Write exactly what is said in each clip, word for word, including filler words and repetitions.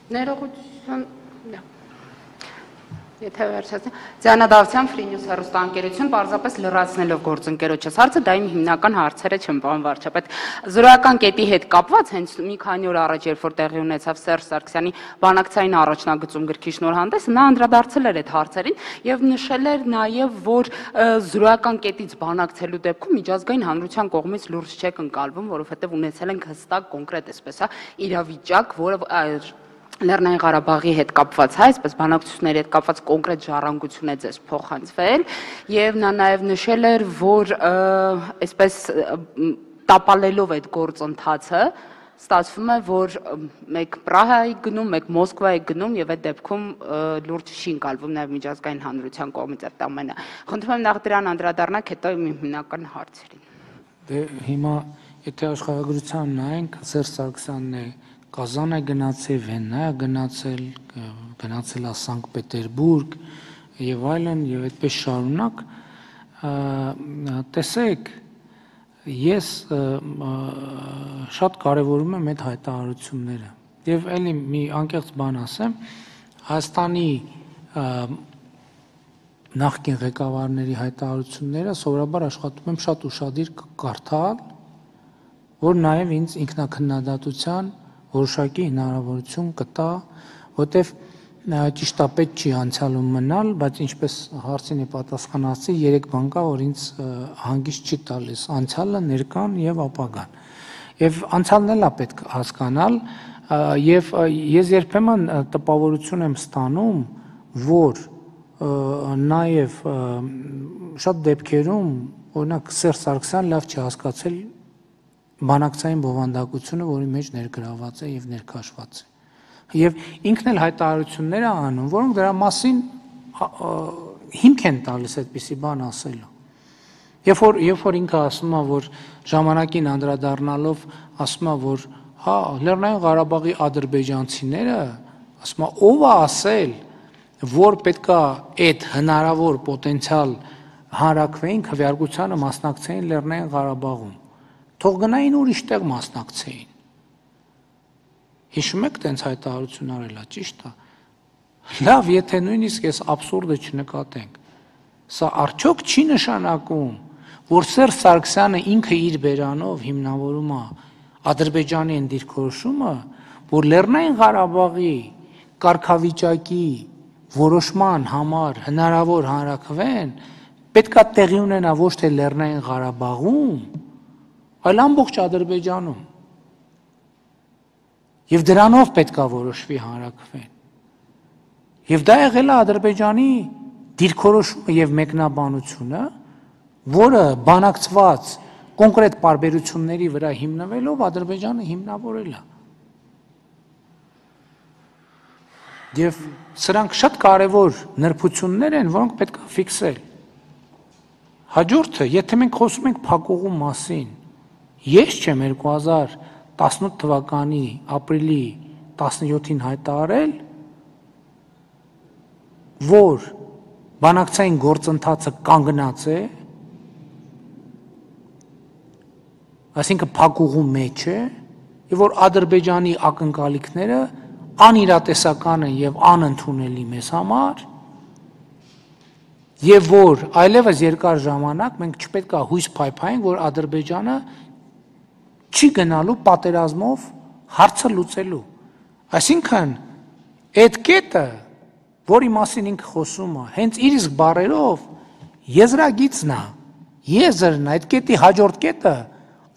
Ներողություն, եթե վերջացնեմ, Ձայնադավթյան Free News հեռուստաընկերություն պարզապես լրացնելով գործընկերոջս հարցը, դա իմ հիմնական հարցերը չեմ, պարոն վարչապետ։ Զրոյական կետի հետ կապված հենց մի քանի օր առաջ, երբ որ տեղի ունեցավ Սերժ Սարգսյանի բանակցային առաջնագծում գրքի շնորհանդեսը, նա անդրադարձել էր այդ հարցերին եւ նշել էր նաեւ, որ զրոյական կետից բանակցելու դեպքում միջազգային հանրության կողմից լուրջ չեք ընկալվում, որովհետեւ ունեցել ենք հստակ կոնկրետ այսպես է իրավիճակ, որը Լեռնային Ղարաբաղի հետ կապված, հա, այսպես բանակցությունների հետ կապված կոնկրետ ժառանգություն է ձեզ փոխանցվել եւ նա նաեւ նշել էր, որ այսպես տապալելով այդ գործընթացը ստացվում է, որ մեկ Պրահայի գնում, մեկ Մոսկվայի գնում եւ այդ դեպքում լուրջ չի ընկալվում նաեւ միջազգային հանրության կողմից այդ ամենը։ Խնդրում եմ նախ դրան անդրադառնաք, հետո իմ հիմնական հարցերին։ Դե հիմա եթե աշխարհագրության նայենք, Սերժ Սարգսյանն է Կազան է գնացել, Վեննա է գնացել, գնացել է Սանկտ Պետերբուրգ եւ այլն եւ այդպես շարունակ, տեսեք, ես շատ կարեւորում եմ այդ հայտարարությունները եւ ելի մի անկեղծ բան ասեմ, Հայաստանի նախկին ղեկավարների հայտարարությունները սովորաբար աշխատում եմ շատ ուշադիր կարդալ, որ նաեւ ինձ ինքնակնդատության որոշակի հնարավորություն կտա, որտեվ ճիշտ է պետք չի անցյալում մնալ, բայց ինչպես հարցին է պատասխանացի, երեք բան կա, որ ինձ հանգիստ չի տալիս՝ անցյալը, ներկան եւ ապագան։ Եվ անցյալն էլ է պետք հասկանալ, եւ ես երբեմն տպավորություն եմ ստանում, որ նաեւ շատ դեպքերում, օրինակ Սերժ Սարգսյան լավ չի հասկացել բանակցային բովանդակությունը, որի մեջ ներգրաված է եւ ներքաշված է։ Եվ ինքն էլ հայտարարություններ է անում, որոնք դրա մասին հիմք են տալիս այդպիսի բան ասելու։ Երբ որ երբ որ ինքը ասում է, որ ժամանակին անդրադառնալով ասում է, որ հա, Լեռնային Ղարաբաղի ադրբեջանցիները, ասում է, ով է ասել, որ պետքա այդ հնարավոր պոտենցիալ հանրակրվեին քվեարկությանը մասնակցեին Լեռնային Ղարաբաղում։ Թող գնային ուրիշ տեղ մասնակցեին։ Հիշում եք տենց հայտարարություն արելա, ճիշտ է։ Լավ, եթե նույնիսկ այս աբսուրդը չնկատենք, սա արդյոք չի նշանակում, որ Սերժ Սարգսյանը ինքը իր բերանով հիմնավորում է Ադրբեջանի այն դիրքորոշումը, որ Լեռնային Ղարաբաղի կարգավիճակի որոշման համար հնարավոր հանրակրվեն պետքա տեղի ունենա ոչ թե Լեռնային Ղարաբաղում, այլ ամբողջ Ադրբեջանում։ Եվ դրանով պետքա որոշվի հանրակրվեն։ Եվ դա եղել է Ադրբեջանի դիրքորոշումը եւ մեկնաբանությունը, որը բանակցված կոնկրետ պարբերությունների վրա հիմնվելով Ադրբեջանը հիմնավորել է։ Եվ սրանք շատ կարևոր նրբություններ են, որոնք պետքա ֆիքսել։ Հաջորդը, եթե մենք խոսում ենք փակուղու մասին, ես չեմ երկու հազար տասնութ թվականի ապրիլի տասնյոթին հայտարարել, որ բանակցային գործընթացը կանգնած է, այսինքն փակուղու մեջ է, եւ որ Ադրբեջանի ակնկալիքները անիրատեսական են եւ անընդունելի մեզ համար, եւ որ այլևս երկար ժամանակ մենք չպետք է հույս փայփայենք, որ Ադրբեջանը չի գնալու պատերազմով հարցը լուծելու։ Այսինքն այդ կետը, որի մասին ինքը խոսում է, հենց իր իսկ բառերով եզրագիծն է, եզրն է, այդ կետի հաջորդ կետը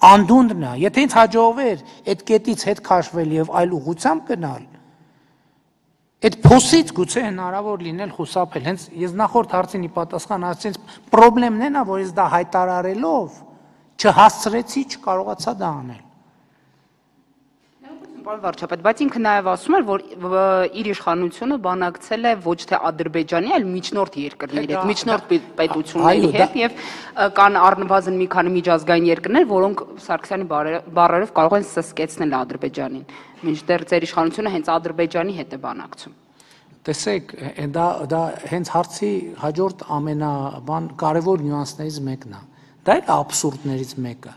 անդունդն է, եթե ինձ հաջողվեր այդ կետից հետ քաշվել եւ այլ ուղղությամբ գնալ, այդ փոսից գուցե հնարավոր լինել խուսափել։ Հենց ես նախորդ հարցին ի պատասխան ասեցի, պրոբլեմն է նա, որ ես դա հայտարարելով չհասցրեցի, չկարողացա դա անել։ Պարոն վարչապետ, բայց ինքը նաև ասում էր, որ իր իշխանությունը բանակցել է ոչ թե Ադրբեջանի, այլ միջնորդ երկրների հետ, միջնորդ պետությունների հետ եւ կան առնվազն մի քանի միջազգային երկրներ, որոնք Սարգսյանի բառերով կարող են սսկեցնել Ադրբեջանին։ Մինչդեռ ձեր իշխանությունը հենց Ադրբեջանի հետ է բանակցում։ Տեսեք, դա դա հենց հարցի հաջորդ ամենաբան կարևոր նյուանսներից մեկն է։ Դա էլ աբսուրդներից մեկը։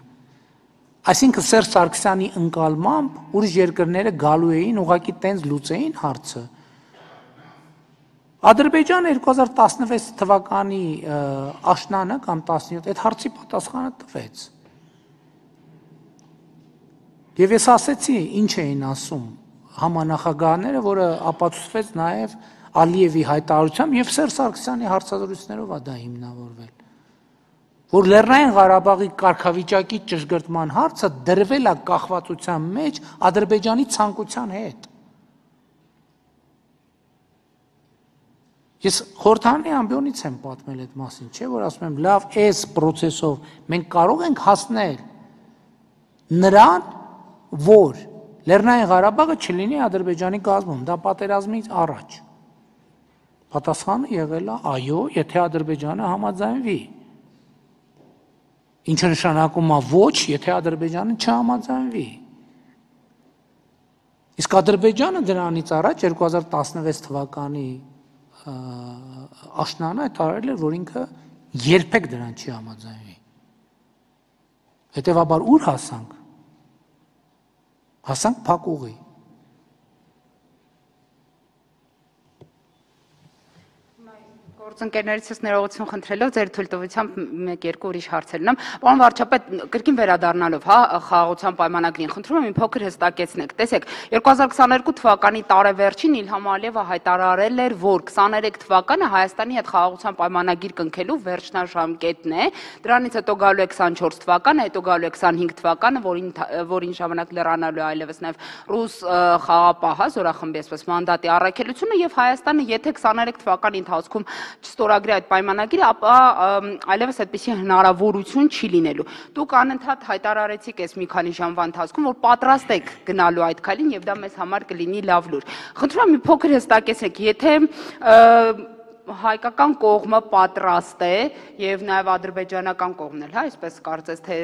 Այսինքն Սերժ Սարգսյանի ընկալմամբ ուրիշ երկրները գալու էին ուղղակի տենց լուծեին հարցը։ Ադրբեջանը երկու հազար տասնվեց թվականի աշնանը կամ տասնյոթ այդ հարցի պատասխանը տվեց։ Եվ ես ասեցի, ինչ էին ասում համանախագահները, որը ապացուցվեց նաև Ալիևի հայտարարությամբ եւ Սերժ Սարգսյանի հարցազրույցներով է դա հիմնավորվել, որ Լեռնային Ղարաբաղի կարգավիճակի ճշգրտման հարցը դրվել է կախվածության մեջ Ադրբեջանի ցանկության հետ։ Ես խորհրդանի ամբիոնից եմ պատմել այդ մասին, չէ՞ որ ասում եմ, լավ, այս process-ով մենք կարող ենք հասնել նրան, որ Լեռնային Ղարաբաղը չլինի Ադրբեջանի կազմում, դա պատերազմից առաջ։ Պատասխանը եղել է այո, եթե Ադրբեջանը համաձայնվի։ Ինչը նշանակում է ոչ, եթե Ադրբեջանը չհամաձայնվի։ Իսկ Ադրբեջանը դրանից առաջ երկու հազար տասնվեց թվականի աշնանը հայտարարել էր, որ ինքը երբեք դրան չի համաձայնվի։ Հետևաբար ուր հասանք։ Հասանք փակուղի։ Գործընկերներիցս ներողություն խնդրելով ձեր թույլտվությամբ մեկ-երկու ուրիշ հարցեր ունեմ։ Պարոն վարչապետ, կրկին վերադառնալով, հա, խաղաղության պայմանագրին, խնդրում եմ մի փոքր հստակեցնեք։ Տեսեք, երկու հազար քսաներկու թվականի տարեվերջին Իլհամ Ալիևը հայտարարել էր, որ քսաներեք թվականը Հայաստանի հետ խաղաղության պայմանագիր կնքելու վերջնաժամկետն է։ Դրանից հետո գալու է քսանչորս թվականը, հետո գալու է քսանհինգ թվականը, որին որին ժամանակ լրանալու է այլևս նաև ռուս խաղապահ, հա, զորախմբի այսպես մանդատի առաքելությունը, եւ Հայաստանը, եթե քսաներեք թվականի ընթացքում չստորագրի այդ պայմանագիրը, ապա այլևս այդպիսի հնարավորություն չի լինելու։ Դուք անընդհատ հայտարարեցիք այս մի քանի ժամվա ընթացքում, որ պատրաստ եք գնալու այդ քայլին եւ դա մեզ համար կլինի լավ լուր։ Խնդրում եմ մի փոքր հստակեցեք, եթե հայկական կողմը պատրաստ է եւ նաեւ ադրբեջանական կողմն էլ, հա, այսպես կարծես թե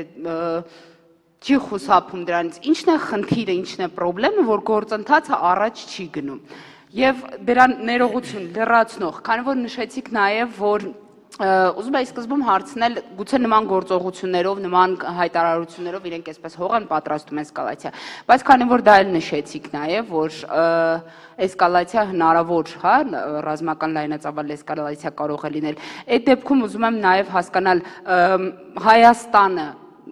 չի խուսափում դրանից, ի՞նչն է խնդիրը, ի՞նչն է խնդրեմը, որ գործընթացը առաջ չի գնում։ Եվ դրան ներողություն լրացնող, քանի որ նշեցիք նաև, որ ուզում եմ սկզբում հարցնել, գուցե նման գործողություններով, նման հայտարարություններով իրենք այսպես հող են պատրաստում էսկալացիա, բայց քանի որ դա էլ նշեցիք նաև, որ էսկալացիա հնարավոր, հա, ռազմական լայնածավալ էսկալացիա կարող է լինել, այդ դեպքում ուզում եմ նաև հասկանալ Հայաստանը,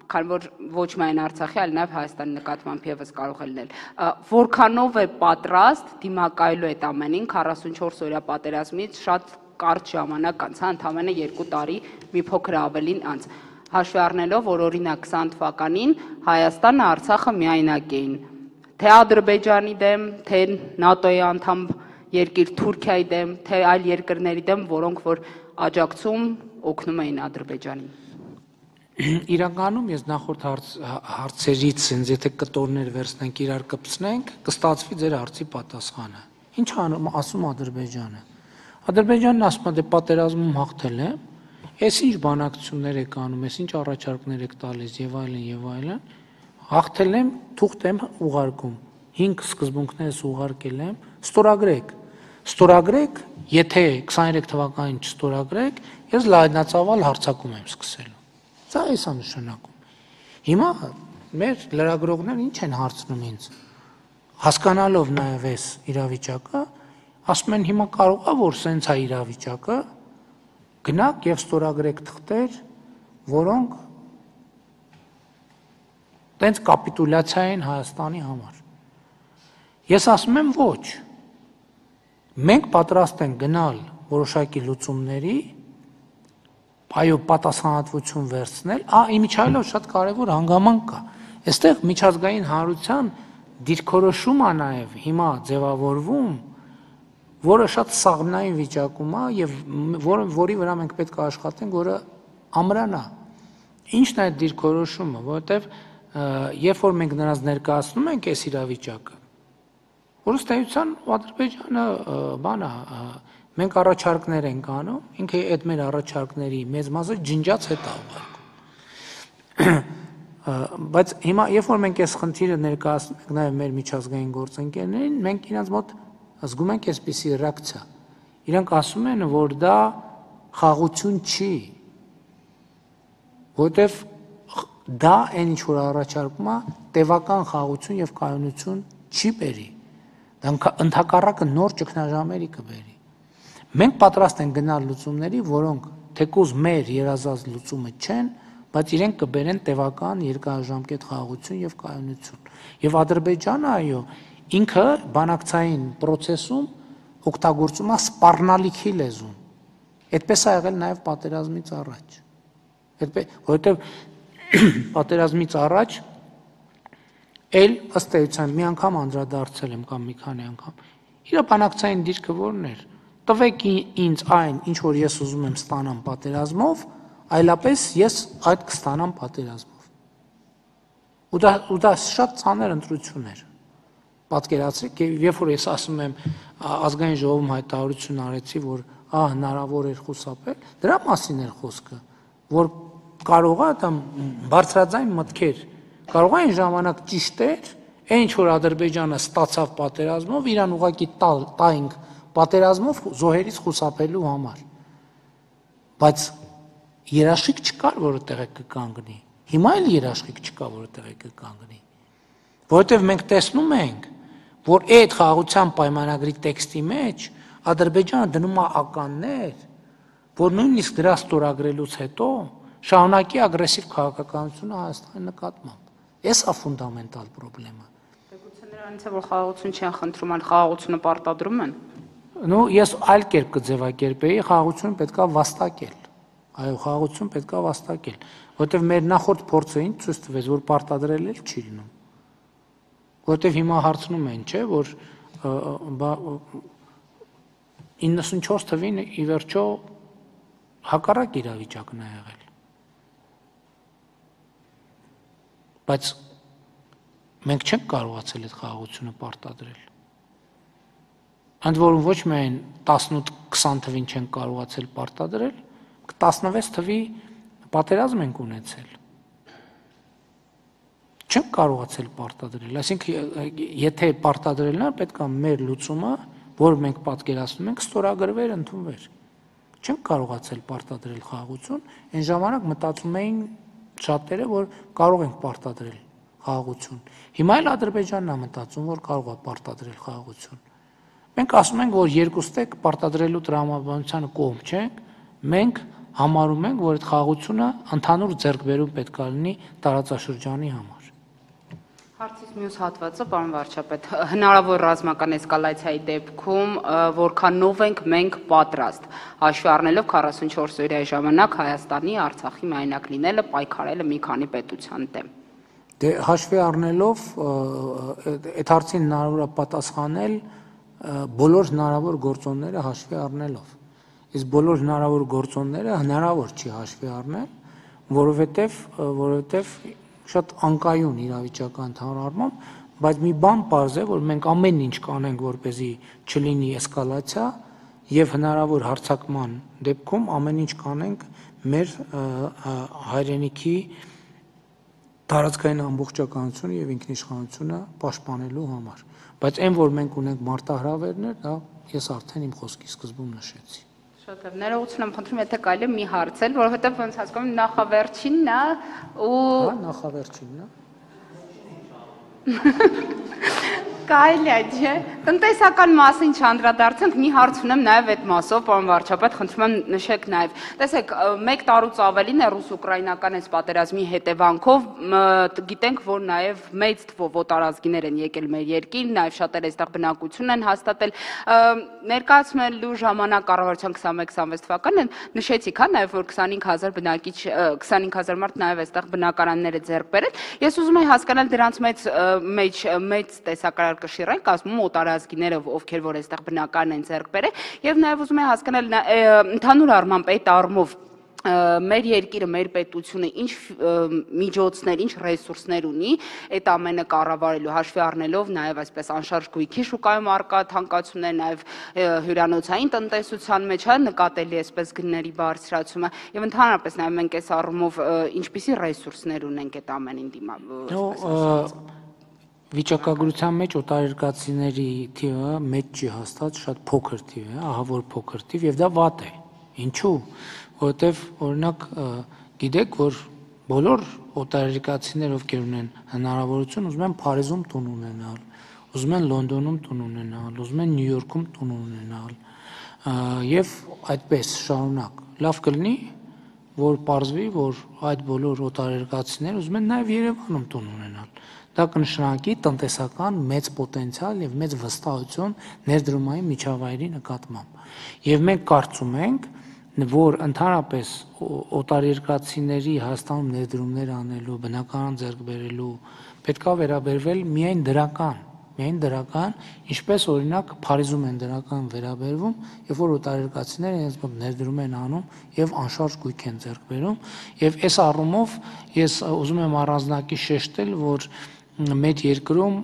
քանի որ ոչ միայն Արցախի, այլ նաև Հայաստանի նկատմամբ եւս կարող է լինել, որքանով է պատրաստ դիմակայելու այդ ամենին քառասունչորս օրյա պատերազմից շատ կարճ ժամանակ անց, հա, ընդամենը երկու տարի մի փոքր ավելին անց, հաշվի առնելով, որ օրինակ քսան թվականին Հայաստանը, Արցախը միայնակ էին, թե Ադրբեջանի դեմ, թե ՆԱՏՕ-ի անդամ երկիր Թուրքիայի դեմ, թե այլ երկրների դեմ, որոնք որ աջակցում օգնում էին Ադրբեջանին։ Իրականում ես նախորդ հարցերից, ինձ եթե կտորներ վերցնենք իրար կպցնենք, կստացվի ձեր հարցի պատասխանը։ Ինչ ասում Ադրբեջանը։ Ադրբեջանն ասում է, դե պատերազմում հաղթել է, այս ինչ բանակցություններ եք անում, այս ինչ առաջարկներ եք տալիս եւ այլն եւ այլն, հաղթել եմ, թուղթ եմ ուղարկում, հինգ սկզբունքներս ուղարկել եմ, ստորագրեք։ Ստորագրեք, եթե քսաներեք թվականին չստորագրեք, ես լայնածավալ հարձակում եմ սկսել։ Դա էս է նշանակում։ Հիմա մեր լրագրողներն ինչ են հարցնում ինձ, հասկանալով նաև այս իրավիճակը, ասում են հիմա կարող է որ սենց է իրավիճակը, գնաք եւ ստորագրեք թղթեր, որոնք տենց կապիտուլյացիա են Հայաստանի համար։ Ես ասում եմ ոչ։ Մենք պատրաստ ենք գնալ որոշակի լուծումների, այո, պատասխանատվություն վերցնել, ա իմիջայլով շատ կարևոր հանգամանք կա։ Այստեղ միջազգային հանրության դիրքորոշում է նաև հիմա ձևավորվում, որը շատ սաղմնային վիճակում է եւ որի վրա մենք պետք է աշխատենք, որը ամրանա։ Ինչն է այդ դիրքորոշումը, որովհետեւ երբ որ մենք նրանց ներկայացնում ենք այս իրավիճակը, որ ըստ էության Ադրբեջանը բան է, մենք առաջարկներ ենք անում, ինքը այդ մեր առաջարկների մեծ մասը ջնջած հետ է ուղարկում։ Բայց հիմա երբ որ մենք այս խնդիրը ներկայացնում ենք նաև մեր միջազգային գործընկերներին, մենք իրենց մոտ զգում ենք այսպիսի ռեակցիա։ Իրանք ասում են, որ դա խաղաղություն չի, որտեվ դա այն ինչ որ առաջարկում է տևական խաղաղություն եւ կայունություն չի բերի, դա ընդհակառակը նոր ճգնաժամերի կբերի։ Մենք պատրաստ ենք գնալ լուծումների, որոնք թեկուզ մեր երազած լուծումը չեն, բայց իրենք կբերեն տևական երկարաժամկետ խաղաղություն եւ կայունություն։ Եվ Ադրբեջանը, այո, ինքը բանակցային process-ում օգտագործում է սպառնալիքի լեզուն։ Այդպես է եղել նաեւ պատերազմից առաջ։ Այդպես, որովհետեւ պատերազմից առաջ էլ ըստ էության մի անգամ անդրադարձել եմ կամ մի քանի անգամ։ Իր բանակցային դիրքը որն էր։ Տվեք ինձ այն, ինչ որ ես ուզում եմ ստանամ պատերազմով, այլապես ես այդ կստանամ պատերազմով։ Ու դա ու դա շատ ցաներ ընտրություն էր։ Պատկերացրեք, երբ որ ես ասում եմ ազգային ժողովում հայտարարություն արեցի, որ ահ հնարավոր էր խուսափել, դրա մասին էր խոսքը, որ կարող է դա բարձրաձայն մտքեր, կարող է այն ժամանակ ճիշտ էր, այն ինչ որ Ադրբեջանը ստացավ պատերազմով, իրան ուղղակի տայինք պատերազմով զոհերից խուսափելու համար։ Բայց երաշխիք չկար, որը տեղը կկանգնի։ Հիմա էլ երաշխիք չկա, որը տեղը կկանգնի։ Որովհետև մենք տեսնում ենք, որ այդ խաղաղության պայմանագրի տեքստի մեջ Ադրբեջանը դնում է ականներ, որ նույնիսկ դրա ստորագրելուց հետո շարունակի ագրեսիվ քաղաքականությունը Հայաստանի նկատմամբ։ Էս է ֆունդամենտալ խնդրեմը։ Գուցե նրանից է որ խաղաղություն չեն խնդրում, այլ խաղաղությունը պարտադրում են։ Ну, ես այլ կերպ կձևակերպեի, խաղաղությունը պետք է վաստակել։ Այո, խաղաղություն պետք է վաստակել, որովհետև մեր նախորդ փորձը ինչ ցույց տվեց, որ պարտադրել էլ չի լինում։ Որովհետև հիմա հարցնում են, չէ, որ իննսունչորս թվին ի վերջո հակառակ իրավիճակն է եղել։ Բայց մենք չենք կարողացել այդ խաղաղությունը պարտադրել։ Ընդ որում ոչ միայն տասնութ քսան թվին չենք կարողացել պարտադրել, տասնվեց թվի պատերազմ ենք ունեցել։ Չենք կարողացել պարտադրել, այսինքն եթե պարտադրելն է, պետք է մեր լուծումը, որ մենք պատկերացնում ենք, ստորագրվեր, ընդունվեր։ Չենք կարողացել պարտադրել խաղաղություն, այն ժամանակ մտածում էին շատերը, որ կարող ենք պարտադրել խաղաղություն։ Հիմա էլ Ադրբեջանն է մտածում, որ կարող է պարտադրել խաղաղություն։ Մենք ասում ենք, որ երկուստեք պարտադրելու տրամաբանությանը կողմ չենք, մենք համարում ենք, որ այդ խաղաղությունը ընդհանուր ձեռքբերում պետք է լինի տարածաշրջանի համար։ Հարցից մյուս հատվածը, պարոն վարչապետ, հնարավոր ռազմական էսկալացիայի դեպքում որքանով ենք մենք պատրաստ, հաշվի առնելով քառասունչորս օրյա ժամանակ Հայաստանի, Արցախի միայնակ լինելը, պայքարելը մի քանի պետության դեմ։ Դե հաշվի առնելով այդ հարցին հնարավոր է պատասխանել բոլոր հնարավոր գործոնները հաշվի առնելով։ Իսկ բոլոր հնարավոր գործոնները հնարավոր չի հաշվի առնել, որովհետև որովհետև շատ անկայուն իրավիճական ընդհանրությամբ, բայց մի բան պարզ է, որ մենք ամեն ինչ կանենք, որպեսզի չլինի էսկալացիա եւ հնարավոր հարձակման դեպքում ամեն ինչ կանենք մեր հայրենիքի տարածքային ամբողջականությունը եւ ինքնիշխանությունը պաշտպանելու համար։ Բայց այն, որ մենք ունենք մարտահրավերներ, դա ես արդեն իմ խոսքի սկզբում նշեցի։ Շատ լավ, ներողություն եմ խնդրում, եթե կարելի է մի հարցել, որովհետև ոնց հասկանում եմ նախավերջինն է ու Հա, նախավերջինն է։ Կարելի է, չէ։ Տնտեսական մասին չանդրադարձանք, մի հարց ունեմ նաև այդ մասով, պարոն վարչապետ, խնդրում եմ նշեք նաև։ Տեսեք, մեկ տարուց ավելին է ռուս-ուկրաինական այս պատերազմի հետևանքով, գիտենք, որ նաև մեծ թվով օտարազգիներ են եկել մեր երկիր, նաև շատերը այստեղ բնակություն են հաստատել։ Ներկայացնելու ժամանակ կառավարության քսանմեկ քսանվեց թվականին նշեցիք, հա, նաև որ քսանհինգ հազար բնակիչ, քսանհինգ հազար մարդ նաև այստեղ բնակարաններ է ձեռք բերել։ Ես ուզում եմ հասկանալ դրանց մեծ մեջ մեծ տեսակարար կշիռենք, ասում օտարազգիները, ովքեր որ այստեղ բնակարան են ձեռք բերել, եւ նաեւ ուզում եմ հասկանալ ընդհանուր առմամբ այդ առումով մեր երկիրը, մեր պետությունը ինչ միջոցներ, ինչ ռեսուրսներ ունի այդ ամենը կառավարելու, հաշվի առնելով նաև այսպես անշարժ գույքի շուկայում առկա թանկացումներ, նաև հյուրանոցային տնտեսության մեջ հա նկատելի այսպես գների բարձրացումը եւ ընդհանրապես նաև մենք այս առումով ինչպիսի ռեսուրսներ ունենք այդ ամենին դիմաց։ Վիճակագրության մեջ օտարերկրացիների թիվը մեծ չի հաստատ, շատ փոքր թիվ է, ահա որ փոքր թիվ եւ դա վատ է։ Ինչու՞։ Որովհետեւ օրինակ գիտեք, որ բոլոր օտարերկրացիներ, ովքեր ունեն հնարավորություն, ուզում են Փարիզում տուն ունենալ, ուզում են Լոնդոնում տուն ունենալ, ուզում են Նյու Յորքում տուն ունենալ, եւ այդպես շարունակ։ Լավ կլինի, որ պարզվի, որ այդ բոլոր օտարերկրացիները ուզում են նաեւ Երևանում տուն ունենալ։ Դա կնշանակի տնտեսական մեծ պոտենցիալ եւ մեծ վստահություն ներդրումային միջավայրի նկատմամբ։ Եվ մենք կարծում ենք, որ ընդհանրապես օտարերկրացիների Հայաստանում ներդրումներ անելու, բնականon ձեռք բերելու պետքա վերաբերվել միայն դրական, միայն դրական, ինչպես օրինակ Փարիզում են դրական վերաբերվում, երբ որ օտարերկրացիները իրենց մոտ ներդրում են անում եւ անշարժ գույք են ձեռք բերում, եւ այս առումով ես ուզում եմ առանձնակի շեշտել, որ մեր երկրում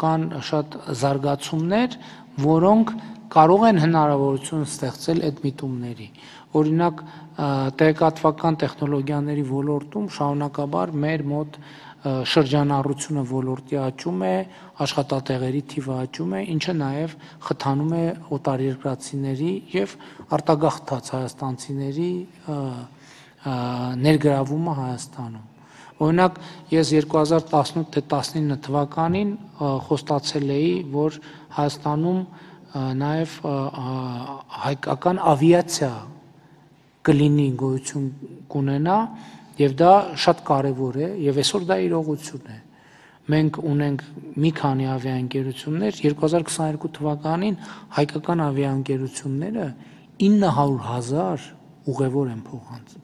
կան շատ զարգացումներ, որոնք կարող են հնարավորություն ստեղծել այդ միտումների։ Օրինակ տեղեկատվական տեխնոլոգիաների ոլորտում շարունակաբար մեր մոտ շրջանառությունը ոլորտի աճում է, աշխատատեղերի թիվը աճում է, ինչը նաև խթանում է օտարերկրացիների եւ արտագաղթած հայաստանցիների ներգրավումը Հայաստանում։ Օրինակ ես երկու հազար տասնութ թե տասնինը թվականին խոստացել էի, որ Հայաստանում նաև հայկական ավիացիա կլինի, գոյություն կունենա, եւ դա շատ կարեւոր է, եւ այսօր դա իրողություն է։ Մենք ունենք մի քանի ավիաընկերություններ, երկու հազար քսաներկու թվականին հայկական ավիաընկերությունները ինը հարյուր հազար ուղևոր են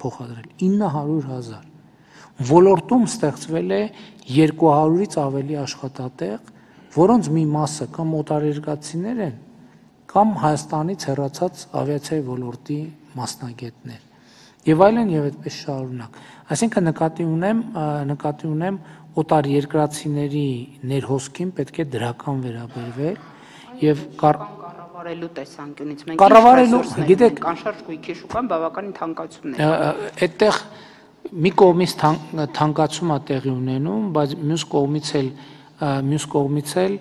փոխադրել, ինը հարյուր հազար։ Ոլորտում ստեղծվել է երկու հարյուրից ավելի աշխատատեղ, որոնց մի մասը կամ օտարերկրացիներ են, կամ Հայաստանից հեռացած ավիացիայի ոլորտի մասնագետներ։ Եվ այլն եւ այդպես շարունակ։ Այսինքն նկատի ունեմ, նկատի ունեմ օտարերկրացիների ներհոսքին պետք է դրական վերաբերվել եւ կառավարելու տեսանկյունից մենք կառավարելու, գիտեք, անշարժ գույքի շուկան բավականին թանկացում է։ Այդտեղ մի կողմից թանկացում է տեղի ունենում, բայց մյուս կողմից էլ մյուս կողմից էլ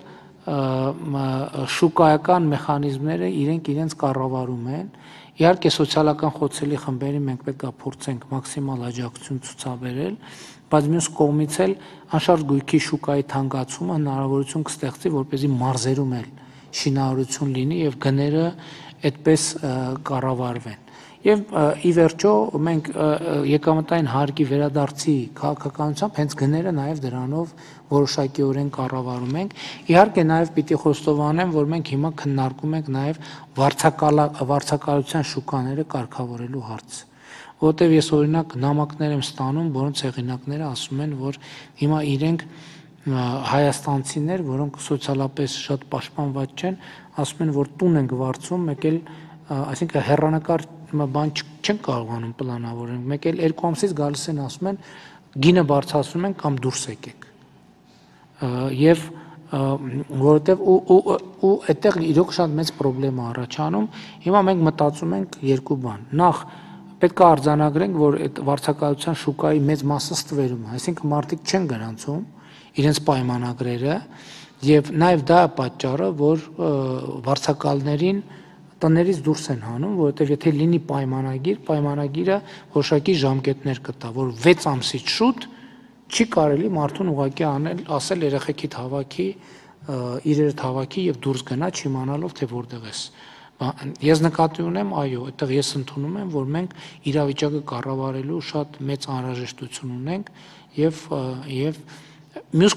շուկայական մեխանիզմները իրենք իրենց կառավարում են։ Իհարկե սոցիալական խոցելի խմբերին մենք պետք է փորձենք մաքսիմալ աջակցություն ցուցաբերել, բայց մյուս կողմից էլ անշարժ գույքի շուկայի թանկացումը հնարավորություն կստեղծի, որպեսզի մարզերում էլ շինարարություն լինի եւ գները այդպես կառավարվեն։ Եվ ի վերջո մենք եկամտային հարկի վերադարձի քաղաքականությամբ հենց գները նաև դրանով որոշակիորեն կառավարում ենք։ Իհարկե նաև պիտի խոստովանեմ, որ մենք հիմա քննարկում ենք նաև վարձակալության շուկաները կարգավորելու հարցը, որովհետև ես օրինակ նամակներ եմ ստանում, որոնց հեղինակները ասում են, որ հիմա իրենք հայաստանցիներ, որոնք սոցիալապես շատ պաշտպանված չեն, ասում են, որ տուն ենք վարձում, մեկ էլ այսինքն հեռանկար բան չեն կարողանում պլանավորել, մեկ էլ երկու ամսից գալիս են ասում են գինը բարձրացնում են կամ դուրս եկեք։ Եվ որովհետև ու այդտեղ իրոք շատ մեծ խնդրեմ է առաջանում, հիմա մենք մտածում ենք երկու բան։ Նախ պետք է արձանագրենք, որ այդ վարձակալության շուկայի մեծ մասը ստվերում է, այսինքն մարդիկ չեն գրանցում իրենց պայմանագրերը, եւ նաեւ դա է պատճառը, որ վարձակալներին տներից դուրս են հանում, որովհետև եթե լինի պայմանագիր, պայմանագիրը որոշակի ժամկետներ կտա, որ վեց ամսից շուտ չի կարելի մարդուն ուղղակի անել, ասել երեխեքիդ հավաքի, իրերդ հավաքի եւ դուրս գնա, չիմանալով թե որտեղ ես։ Ես նկատի ունեմ, այո, այդտեղ ես ընդունում եմ, որ մենք իրավիճակը կառավարելու շատ մեծ անհրաժեշտություն ունենք եւ եւ մյուս